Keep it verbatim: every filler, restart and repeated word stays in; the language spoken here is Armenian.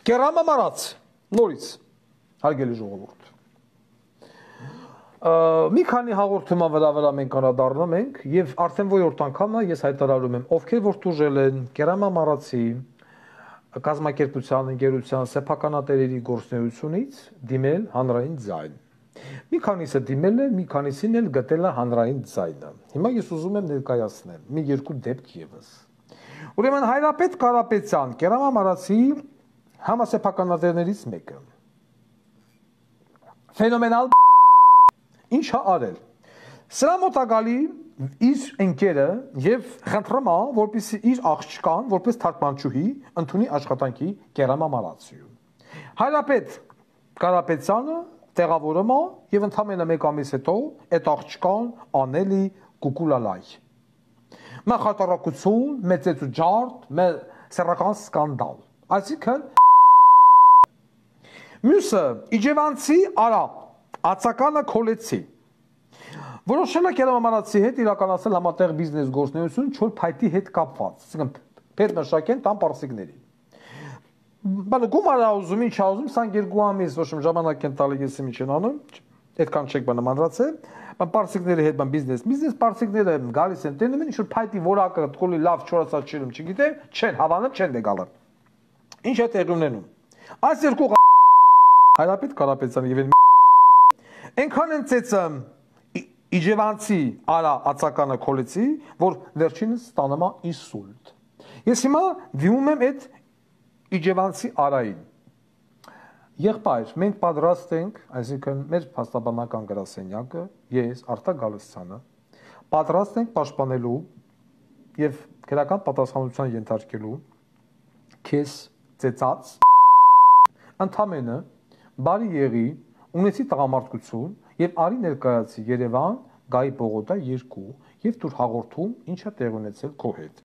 Կերամամարած, նորից, հարգելի ժողովուրդ։ Մի քանի հաղորդման վրա վրա մենք անդրադառնում ենք եւ արդեն որորդ անգամն է ես հայտարարում եմ, ովքեր որ տուժել են Կերամամարածի կազմակերպության, ընկերության սեփականատերերի գործունեությունից դիմել հանրային ձայն։ Մի քանիսը դիմել է, մի քանիսին էլ գտել է հանրային ձայնը։ Հիմա ես ուզում եմ ներկայացնեմ մի երկու դեպք եւս։ Ուրեմն Հայրապետ Կարապետյան, Կերամամարածի համասեփականատերներից մեկը։ Ֆենոմենալ ինչ է արել։ Սրա մոտակալի իր ընկերը եւ խնդրում է, որպեսզի իր աղջկան, որպես թարգմանչուհի, ընդունի աշխատանքի Կերամամարածիում։ Հայրապետ Կարապետյանը տեղավորում է եւ ընդամենը մեկ ամիս հետո այդ աղջկան անելի կուկուլալայ։ Մա խատարակություն, մեծեցու ջարդ, մե սեռական սկանդալ։ Այսինքն Մյուսը Իջևանցի Արա, ածականը Քոլեցի։ Որոշել է Կերամամարածի հետ իրականացնել համատեղ բիզնես գործունեություն չոր փայտի հետ կապված, այսինքն պետ մշակեն տան պարսիկների։ Բանը գումար ուզում, ինչ ուզում, քսաներկու ամիս ոչ ժամանակ են տալի ես ինչ են անում, այդքան չեք բանը մանրացել, բան պարսիկների հետ բան բիզնես, բիզնես պարսիկները գալիս են տենում են ինչ որ փայտի որակը տկոլի լավ չորացած չելում, չգիտեմ, չեն հավանում, չեն դեգալը։ Ինչ է տեղի ունենում։ Այս երկու Հայրապետ Կարապետյանը եւ այնքան են ծեծում Իջևանցի Արա ածականը Քոլեցի, որ վերջինս ստանում է ինսուլտ։ Ես հիմա դիմում եմ այդ Իջևանցի Արային։ Եղբայր, մենք պատրաստ ենք, այսինքն մեր փաստաբանական գրասենյակը, ես Արտակ Գալստյանը, պատրաստ ենք պաշտպանելու եւ քրական պատասխանատվության ենթարկելու քեզ ծեծած ընդամենը բարի եղի, ունեցի տղամարդկություն եւ արի ներկայացի Երևան, Գայի Բողոկա երկու եւ դուր հաղորդում ինչա տեղ ունեցել քո հետ։